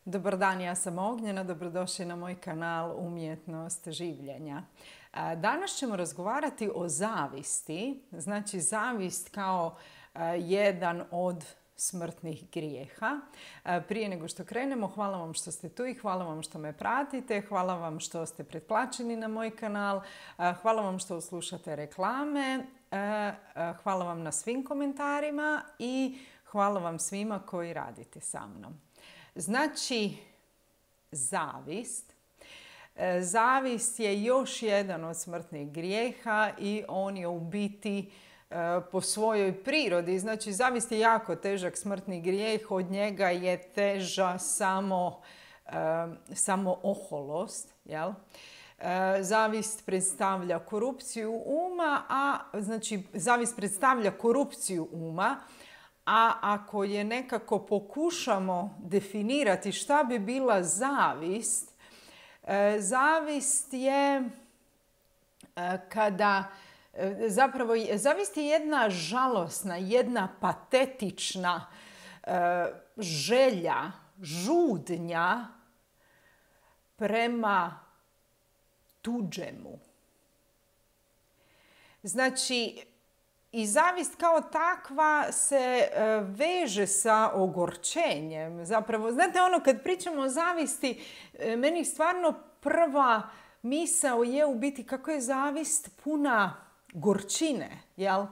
Dobar dan, ja sam Ognjena, dobrodošli na moj kanal Umjetnost življenja. Danas ćemo razgovarati o zavisti, znači zavist kao jedan od smrtnih grijeha. Prije nego što krenemo, hvala vam što ste tu i hvala vam što me pratite, hvala vam što ste pretplaćeni na moj kanal, hvala vam što slušate reklame, hvala vam na svim komentarima i hvala vam svima koji radite sa mnom. Znači, zavist. Zavist je još jedan od smrtnih grijeha i on je u biti po svojoj prirodi. Znači, zavist je jako težak smrtni grijeh, od njega je teža samo oholost. Jel? Zavist predstavlja korupciju uma, zavist predstavlja korupciju uma, a ako je nekako pokušamo definirati šta bi bila zavist, zavist je zavist je jedna žalosna, jedna patetična želja, žudnja prema tuđemu. Znači, i zavist kao takva se veže sa ogorčenjem. Zapravo, znate ono kad pričamo o zavisti, meni stvarno prva misao je u biti kako je zavist puna gorčine. Jel?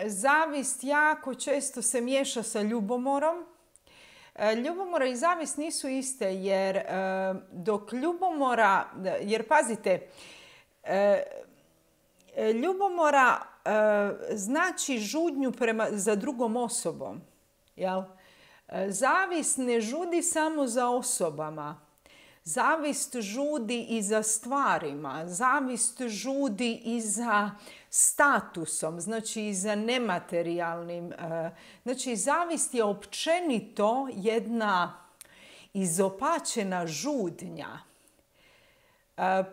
Zavist jako često se miješa sa ljubomorom. Ljubomora i zavist nisu iste jer dok ljubomora, jer pazite, ljubomora znači žudnju za drugom osobom. Jel? Zavist ne žudi samo za osobama. Zavist žudi i za stvarima. Zavist žudi i za statusom, znači i za nematerijalnim. Znači, zavist je općenito jedna izopačena žudnja.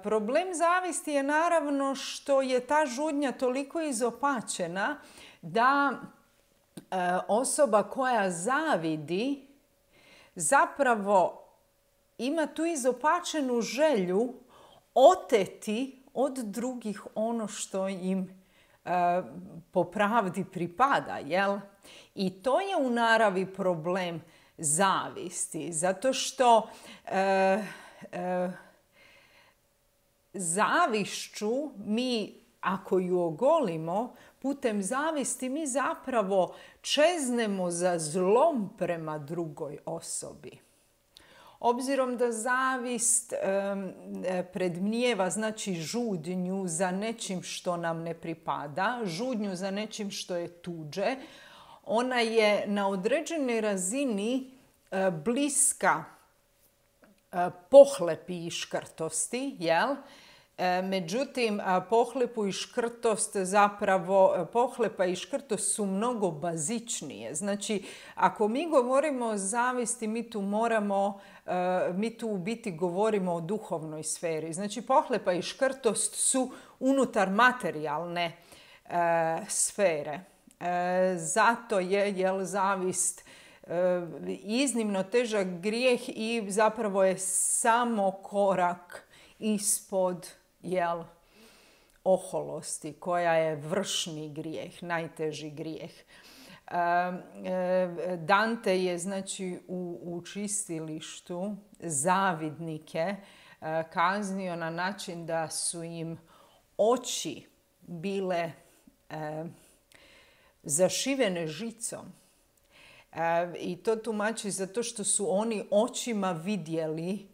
Problem zavisti je naravno što je ta žudnja toliko izopačena da osoba koja zavidi zapravo ima tu izopačenu želju oteti od drugih ono što im po pravdi pripada. Jel? I to je u naravi problem zavisti, zato što zavišću mi, ako ju ogolimo, putem zavisti mi zapravo čeznemo za zlom prema drugoj osobi. Obzirom da zavist predmnijeva, znači žudnju za nečim što nam ne pripada, žudnju za nečim što je tuđe, ona je na određenoj razini bliska pohlepi i škrtosti, jel? Međutim, pohlepu i škrtost zapravo, pohlepa i škrtost su mnogo bazičnije. Znači, ako mi govorimo o zavisti, mi tu u biti govorimo o duhovnoj sferi. Znači, pohlepa i škrtost su unutar materijalne sfere. Zato je zavist iznimno težak grijeh i zapravo je samo korak ispod oholosti koja je vršni grijeh, najteži grijeh. Dante je znači u čistilištu zavidnike kaznio na način da su im oči bile zašivene žicom. I to tumači zato što su oni očima vidjeli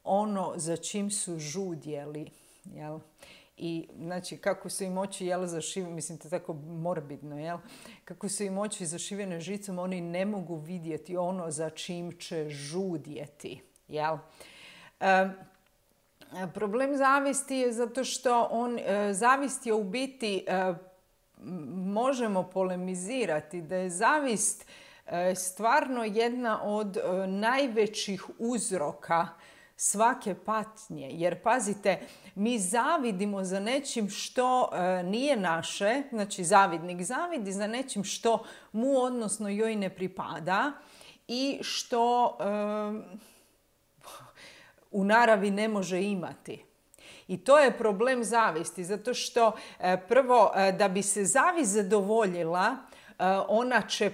ono za čim su žudjeli. Jel? I znači kako su im oči zašivene, mislim to je tako morbidno, jel? Kako su im oči zašivene žicom, oni ne mogu vidjeti ono za čim će žudjeti. Jel? Problem zavisti je zato što zavist je u biti, možemo polemizirati da je zavist stvarno jedna od najvećih uzroka svake patnje. Jer pazite, mi zavidimo za nečim što nije naše, znači zavidnik zavidi za nečim što mu odnosno joj ne pripada i što u naravi ne može imati. I to je problem zavisti, zato što prvo da bi se zavist zadovoljila,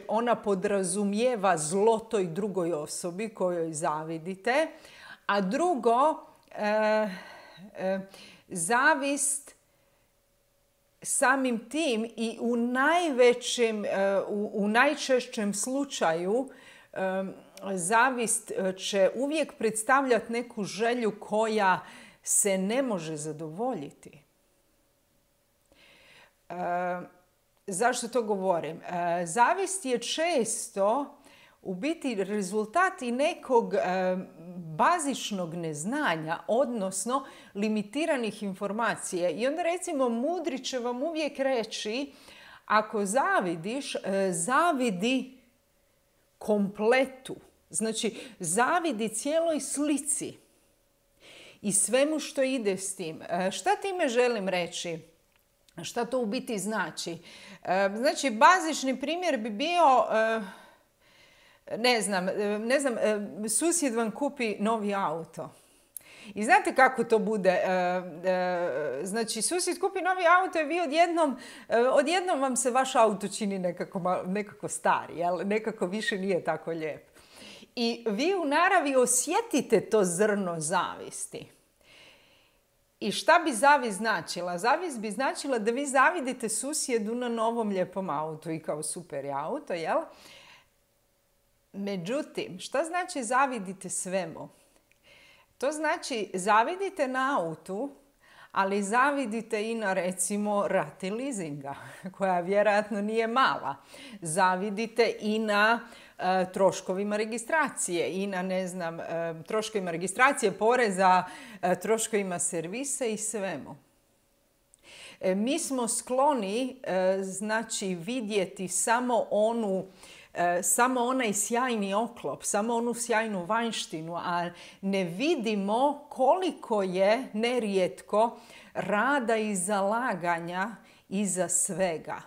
ona podrazumijeva zlo toj drugoj osobi kojoj zavidite, a drugo, zavist samim tim i u najčešćem slučaju zavist će uvijek predstavljati neku želju koja se ne može zadovoljiti. Zašto to govorim? Zavist je često u biti rezultat i nekog bazičnog neznanja, odnosno limitiranih informacija. I onda recimo mudri će vam uvijek reći, ako zavidiš, zavidi kompletu. Znači, zavidi cijeloj slici i svemu što ide s tim. Šta time želim reći? Šta to u biti znači? Znači, bazični primjer bi bio, ne znam, susjed vam kupi novi auto. I znate kako to bude? Znači, susjed kupi novi auto i vi odjednom vam se vaš auto čini nekako stari, jel? Nekako više nije tako lijep. I vi u naravi osjetite to zrno zavisti. I šta bi zavist značila? Zavist bi značila da vi zavidite susjedu na novom lijepom autu i kao super je auto, jel? Međutim, šta znači zavidite svemu? To znači zavidite na autu, ali zavidite i na recimo rati leasinga, koja vjerojatno nije mala. Zavidite i na troškovima registracije i na, ne znam, troškovima registracije, poreza, troškovima servisa i svemu. Mi smo skloni, znači, vidjeti samo onaj sjajni oklop, samo onu sjajnu vanjštinu, a ne vidimo koliko je nerijetko rada i zalaganja iza svega.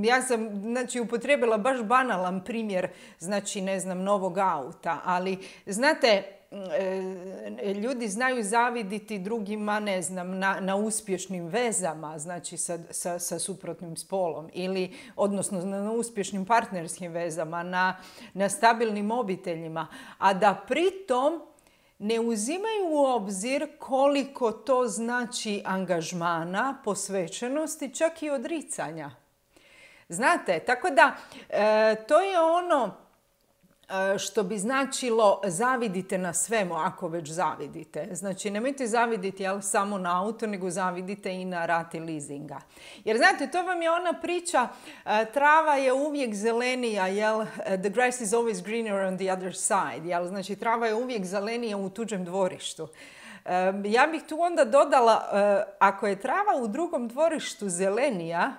Ja sam, znači, upotrijebila baš banalan primjer, znači, ne znam, novog auta, ali, znate, ljudi znaju zaviditi drugima, ne znam, na uspješnim vezama, znači sa suprotnim spolom, ili, odnosno na uspješnim partnerskim vezama, na stabilnim obiteljima, a da pritom ne uzimaju u obzir koliko to znači angažmana, posvećenosti, čak i odricanja. Znate, tako da to je ono što bi značilo zavidite na svemu, ako već zavidite. Znači, nemojte zaviditi samo na auto, nego zavidite i na rati leasinga. Jer znate, to vam je ona priča, trava je uvijek zelenija, jel? The grass is always greener on the other side. Jel? Znači, trava je uvijek zelenija u tuđem dvorištu. Ja bih tu onda dodala, ako je trava u drugom dvorištu zelenija,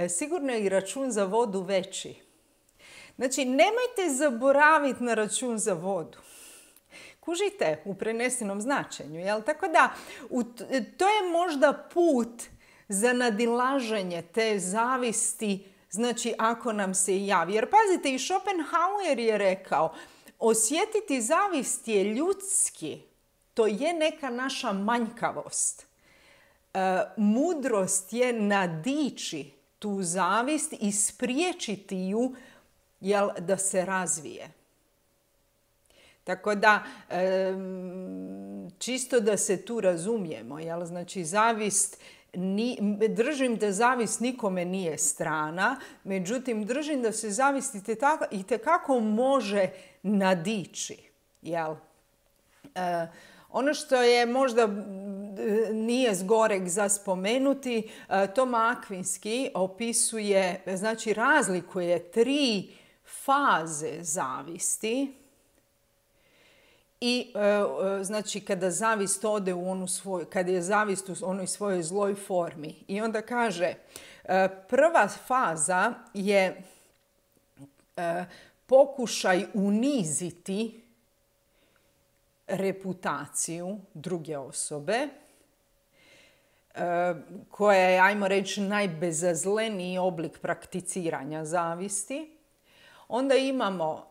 sigurno je i račun za vodu veći. Znači, nemojte zaboraviti na račun za vodu. Kužite, u prenesenom značenju, jel? Tako da, to je možda put za nadilaženje te zavisti, znači, ako nam se javi. Jer pazite, i Schopenhauer je rekao, osjetiti zavist je ljudski. To je neka naša manjkavost. Mudrost je nadići tu zavist i spriječiti ju, jel, da se razvije. Tako da, čisto da se tu razumijemo, jel, znači zavist, držim da zavist nikome nije strana, međutim držim da se zavist itekako može nadići, jel. Ono što je možda nije zgoreg za spomenuti, Toma Akvinski opisuje, znači razlikuje 3 faze zavisti i znači kada zavist ode u onu svoju, kada je zavist u onoj svojoj zloj formi. I onda kaže, prva faza je pokušaj uniziti reputaciju druge osobe, koja je, ajmo reći, najbezazleniji oblik prakticiranja zavisti. Onda imamo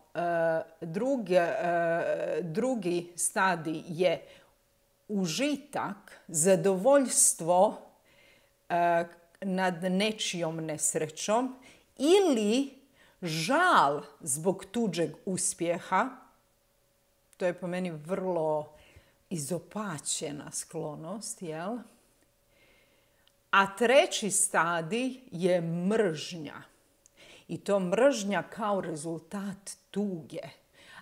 drugi stadij je užitak, zadovoljstvo nad nečijom nesrećom ili žal zbog tuđeg uspjeha. To je po meni vrlo izopačena sklonost, jel? A treći stadij je mržnja. I to mržnja kao rezultat tuge.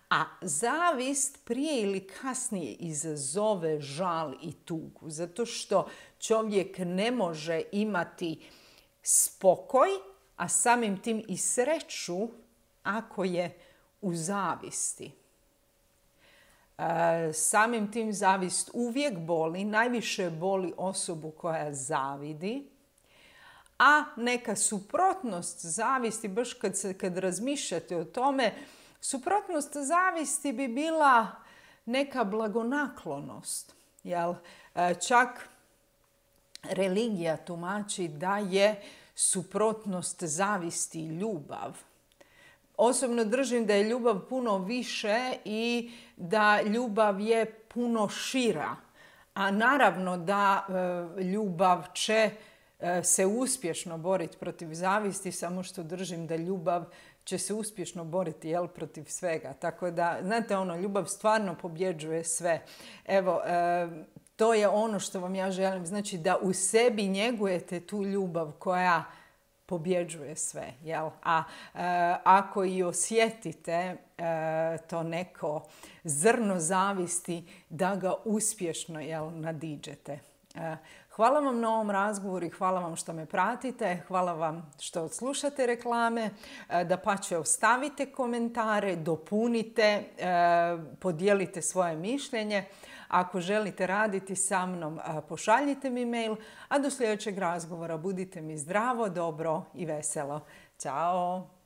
A zavist prije ili kasnije izazove žal i tugu. Zato što čovjek ne može imati spokoj, a samim tim i sreću ako je u zavisti. Samim tim zavist uvijek boli, najviše boli osobu koja zavidi, a neka suprotnost zavisti, baš kad razmišljate o tome, suprotnost zavisti bi bila neka blagonaklonost. Jel? Čak religija tumači da je suprotnost zavisti ljubav. Osobno držim da je ljubav puno više i da ljubav je puno šira. A naravno da ljubav će se uspješno boriti protiv zavisti, samo što držim da ljubav će se uspješno boriti protiv svega. Tako da, znate ljubav stvarno pobjeđuje sve. Evo, to je ono što vam ja želim. Znači da u sebi njegujete tu ljubav koja pobjeđuje sve. Jel? A ako i osjetite to neko zrno zavisti, da ga uspješno nadiđete. Hvala vam na ovom razgovoru i hvala vam što me pratite. Hvala vam što odslušate reklame. Dapače, ostavite komentare, dopunite, podijelite svoje mišljenje. Ako želite raditi sa mnom, pošaljite mi mail, a do sljedećeg razgovora budite mi zdravo, dobro i veselo. Ćao!